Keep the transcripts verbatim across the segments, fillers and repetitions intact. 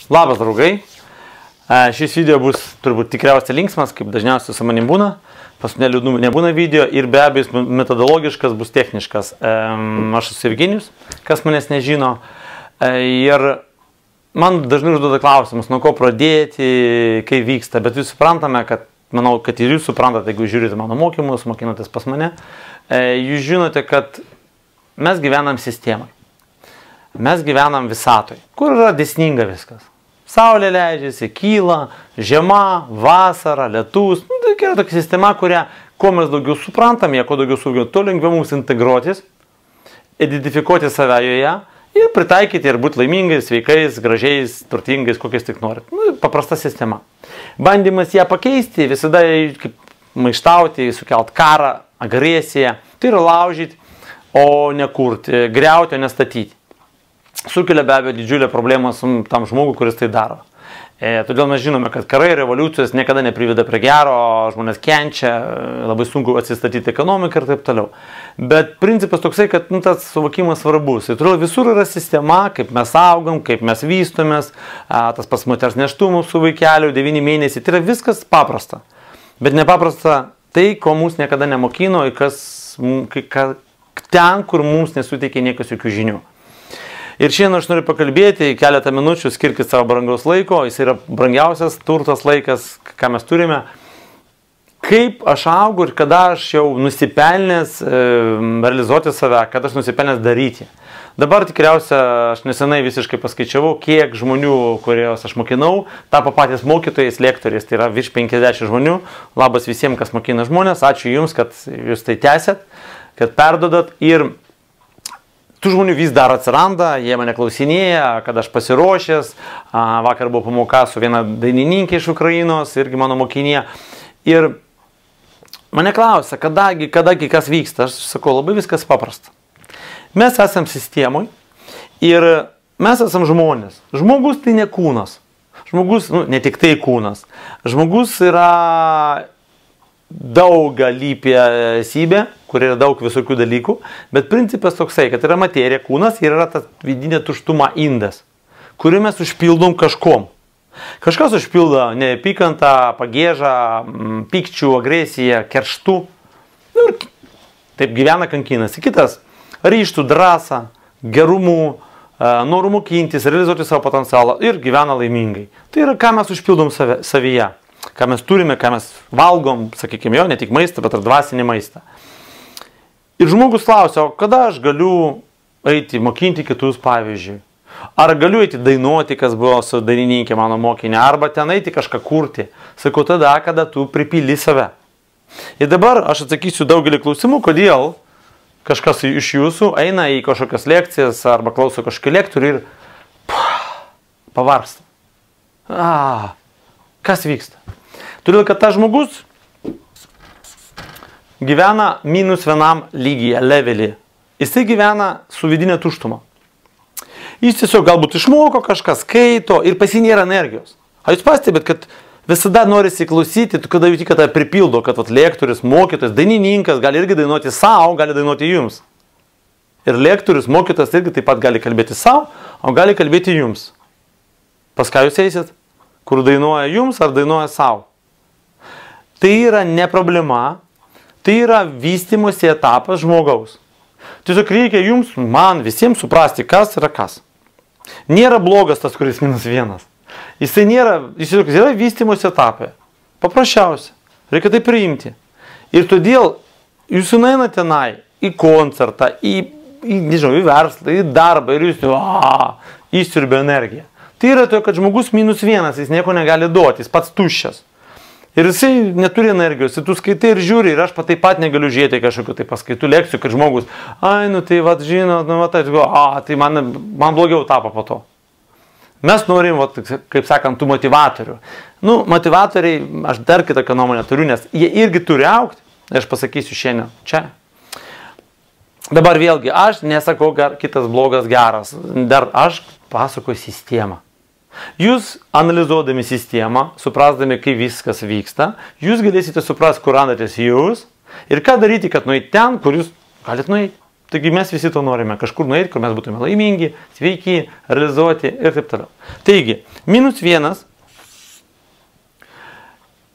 Labas, draugai. Šis video bus turbūt tikriausiai linksmas, kaip dažniausiai su manim būna. Pas mane liūdnų nebūna video ir be abejo metodologiškas bus techniškas. Aš esu Virginijus, kas manęs nežino. Ir man dažnai užduoda klausimus, nuo ko pradėti, kaip vyksta. Bet jūs suprantame, kad, manau, kad ir jūs suprantate, jeigu žiūrite mano mokymus, mokinatės pas mane. Jūs žinote, kad mes gyvenam sistemai. Mes gyvenam visatoj, kur yra dėsninga viskas. Saulė leidžiasi, kyla, žiema, vasara, lietus. Nu, tai yra tokia sistema, kurią, kuo mes daugiau suprantame, kuo daugiau suvokiame, tuo lengviau mums integruotis, identifikuoti save joje ir pritaikyti ir būti laimingais, sveikais, gražiais, turtingais, kokiais tik norit. Nu, paprasta sistema. Bandymas ją pakeisti, visada kaip maištauti, sukelt karą, agresiją, tai yra laužyti, o ne kurti, griauti, o ne statyti. Sukelia be abejo didžiulę problemą su tam žmogui, kuris tai daro. E, todėl mes žinome, kad karai, revoliucijos niekada nepriveda prie gero, žmonės kenčia, labai sunku atsistatyti ekonomiką ir taip toliau. Bet principas toksai, kad nu, tas suvokimas svarbus. Ir todėl visur yra sistema, kaip mes augam, kaip mes vystomės, a, tas pas moters nėštumus su vaikeliu, devyni mėnesiai. Tai yra viskas paprasta. Bet nepaprasta tai, ko mums niekada nemokino, kas, ka, ten, kur mums nesuteikė niekas jokių žinių. Ir šiandien aš noriu pakalbėti, keletą minučių skirkit savo brangaus laiko, jis yra brangiausias turtas laikas, ką mes turime. Kaip aš augu ir kada aš jau nusipelnęs e, realizuoti save, kada aš nusipelnęs daryti. Dabar tikriausia, aš nesenai visiškai paskaičiavau, kiek žmonių, kuriuos aš mokinau, tapo patys mokytojais, lektoriais, tai yra virš penkiasdešimt žmonių. Labas visiems, kas mokina žmonės, ačiū Jums, kad Jūs tai tęsėt, kad perdodat ir tų žmonių vis dar atsiranda, jie mane klausinėja, kad aš pasiruošęs, vakar buvo pamoka su viena dainininkė iš Ukrainos, irgi mano mokinė, ir mane klausia, kadagi, kadagi kas vyksta, aš sakau, labai viskas paprasta. Mes esam sistemoj ir mes esam žmonės. Žmogus tai ne kūnas, žmogus, nu, ne tik tai kūnas, žmogus yra daugalypė esybė, kur yra daug visokių dalykų, bet principas toksai, kad yra materija, kūnas ir yra ta vidinė tuštuma indas, kurį mes užpildom kažkom. Kažkas užpildo neapykantą, pagėžą, pykčių, agresiją, kerštų. Ir taip gyvena kankinasi. Kitas ryžtų, drąsą, gerumų, norų mokintis, realizuoti savo potencialą ir gyvena laimingai. Tai yra, ką mes užpildom save, savyje. Ką mes turime, ką mes valgom, sakykime, jo, ne tik maistą, bet ir dvasinį maistą. Ir žmogus klausia, o kada aš galiu eiti mokinti kitus, pavyzdžiui? Ar galiu eiti dainuoti, kas buvo su dainininkė mano mokinė, arba ten eiti kažką kurti? Sakau, tada, kada tu pripildi save. Ir dabar aš atsakysiu daugelį klausimų, kodėl kažkas iš jūsų eina į kažkokias lekcijas arba klauso kažkokį lektorių ir pavarsta. A, kas vyksta? Todėl, kad tas žmogus gyvena minus vienam lygyje, levelį. Jisai gyvena su vidinė tuštuma. Jis tiesiog galbūt išmoko kažką, skaito ir pas jį nėra energijos. A jūs pastebėt, kad visada norisi klausyti, kada jūs tik tą pripildo, kad vat, lektorius, mokytojas, dainininkas gali irgi dainuoti savo, gali dainuoti jums. Ir lektorius, mokytojas irgi taip pat gali kalbėti savo, o gali kalbėti jums. Pas ką jūs eisit? Kur dainuoja jums ar dainuoja savo? Tai yra ne problema, tai yra vystymosi etapas žmogaus. Tiesiog reikia jums, man, visiems suprasti, kas yra kas. Nėra blogas tas, kuris minus vienas. Jisai nėra, jis yra vystymosi etapai. Paprasčiausia. Reikia tai priimti. Ir todėl jūs nueinate tenai į koncertą, į, į, nežinau, į verslą, į darbą ir jūs a, įsiurbia energiją. Tai yra to, kad žmogus minus vienas, jis nieko negali duoti, jis pats tuščias. Ir jisai neturi energijos, ir tu skaitai ir žiūri, ir aš pat taip pat negaliu žiūrėti kažkokiu tai paskaitų lekcijų, kad žmogus, ai, nu tai, vat, žinot, nu, vat, a, tai man, man blogiau tapo po to. Mes norim, vat, kaip sakant, tų motivatorių. Nu, motivatoriai, aš dar kitokią nuomonę turiu, nes jie irgi turi augti, aš pasakysiu šiandien čia. Dabar vėlgi, aš nesakau, gar, kitas blogas geras, dar aš pasakoju sistemą. Jūs analizuodami sistemą, suprasdami, kaip viskas vyksta, jūs galėsite suprasti, kur randatės jūs ir ką daryti, kad nueiti ten, kur jūs galite nueiti. Taigi mes visi to norime, kažkur nueiti, kur mes būtume laimingi, sveiki, realizuoti ir taip toliau. Taigi, minus vienas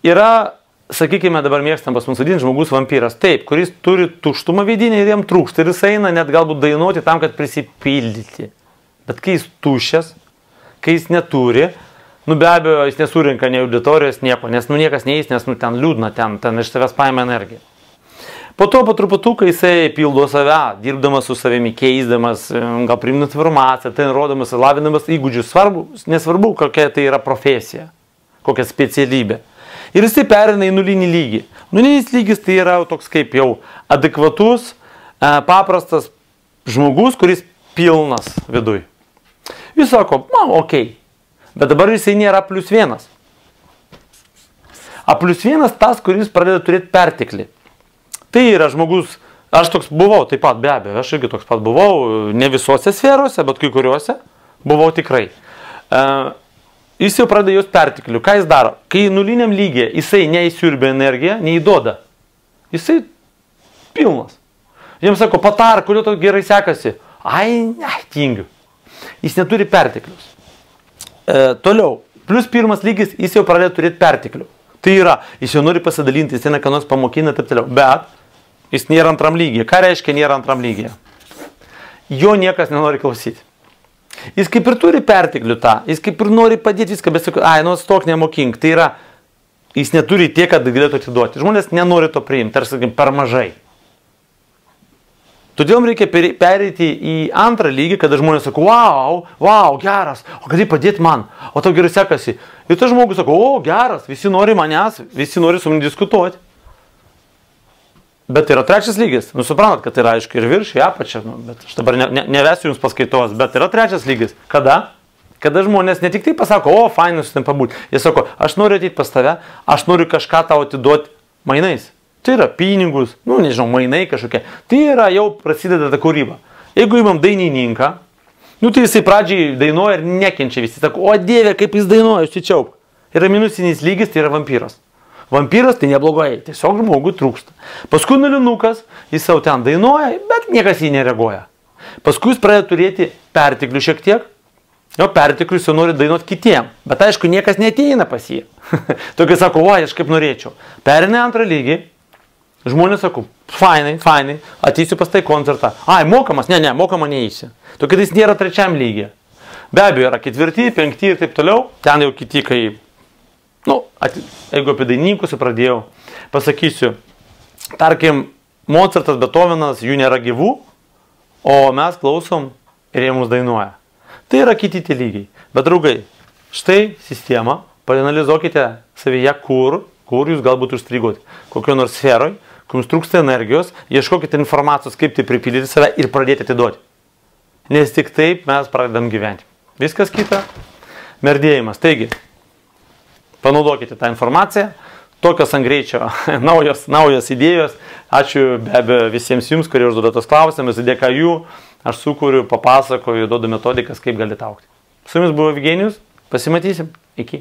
yra, sakykime, dabar mėgstam pas mums vadinti žmogus vampyras. Taip, kuris turi tuštumą vidinį ir jam trūksta ir jis eina net galbūt dainuoti tam, kad prisipildyti. Bet kai jis tuščias, kai jis neturi, nu be abejo, jis nesurinka nei auditorijos, nieko, nes nu niekas neįs, nes nu ten liūdna, ten, ten iš savęs paima energiją. Po to po truputuką jisai pildo save, dirbdamas su savimi, keisdamas, gal priimant informaciją, tai rodamas, lavinamas įgūdžius. Svarbu, nesvarbu, kokia tai yra profesija, kokia specialybė. Ir jisai perina į nulinį lygį. Nulinis lygis tai yra toks kaip jau adekvatus, paprastas žmogus, kuris pilnas viduj. Jis sako, man, okei, bet dabar jisai nėra plius vienas. A plius vienas tas, kuris pradeda turėti perteklį. Tai yra žmogus, aš toks buvau, taip pat be abejo, aš irgi toks pat buvau, ne visose sferose, bet kai kuriuose buvau tikrai. Uh, jis jau pradeda jos perteklių. Ką jis daro? Kai nuliniam lygiai jisai neįsiurbia energiją, neįduoda. Jisai pilnas. Jiems sako, patar, kodėl to gerai sekasi. Ai, ne, tingiu. Jis neturi perteklius. Uh, toliau, plus pirmas lygis, jis jau pradeda turėti perteklių. Tai yra, jis jau nori pasidalinti, jis ten ką nors pamokina ir taip toliau. Bet jis nėra antram lygyje. Ką reiškia nėra antram lygyje? Jo niekas nenori klausyti. Jis kaip ir turi perteklių tą, jis kaip ir nori padėti viską, bet sako, ai, nu stok nemokink. Tai yra, jis neturi tiek, kad galėtų atiduoti. Žmonės nenori to priimti, tarsi, sakykim, per mažai. Todėl reikia pereiti į antrą lygį, kada žmonės sako, wow, wow, geras, o gali padėti man, o tau gerai sekasi. Ir tas žmogus sako, o, geras, visi nori manęs, visi nori su manim diskutuoti. Bet yra trečias lygis. Nu, suprantat, kad yra, aišku, ir virš, į apačią. Nu, bet aš dabar ne, ne, nevesiu jums paskaitos, bet yra trečias lygis. Kada? Kada žmonės ne tik tai pasako, o, fainai su ten pabūti. Jie sako, aš noriu ateiti pas tave, aš noriu kažką tau atiduoti mainais. Tai yra pinigus, nu, nežinau, mainai kažkokie. Tai yra jau prasideda ta kūryba. Jeigu imam dainininką, nu, tai jisai pradžiai dainuoja ir nekenčia visi. Sako, o dieve, kaip jis dainuoja, užsičiauk. Yra minusinis lygis, tai yra vampyras. Vampyras tai neblogai, tiesiog žmogui trūksta. Paskui nulinukas, jis jau ten dainuoja, bet niekas jį nereaguoja. Paskui jis pradeda turėti perteklių šiek tiek, jo perteklius jau nori dainuoti kitiem, bet aišku, niekas neateina pas jį. Tokia sako, o, aš kaip norėčiau. Perina antrą lygį, žmonės sako, fainai, fainai, ateisiu pas tai koncertą. Ai, mokamas, ne, ne, mokama neįsi. Tokia tai nėra trečiam lygiai. Be abejo, yra ketvirti, penkti ir taip toliau, ten jau kiti, kai... Nu, ati, jeigu apie dainininkus pradėjau, pasakysiu, tarkim, Mozartas, Beethovenas, jų nėra gyvų, o mes klausom ir jie mums dainuoja. Tai yra kiti tie lygiai. Bet draugai, štai sistema, paanalizuokite savyje, kur, kur jūs galbūt užstrigote, kokio nors sferoj, kur jums trūksta energijos, ieškokite informacijos, kaip tai pripildyti save ir pradėti atiduoti. Nes tik taip mes pradedam gyventi. Viskas kita, merdėjimas. Taigi, panaudokite tą informaciją, tokios ant greičio, naujos, naujos idėjos. Ačiū be abejo visiems jums, kurie užduoda tos klausimus, dėka jų aš sukūriu, papasakoju, duodu metodikas, kaip galite augti. Su jumis buvo Evgenijus, pasimatysim, iki.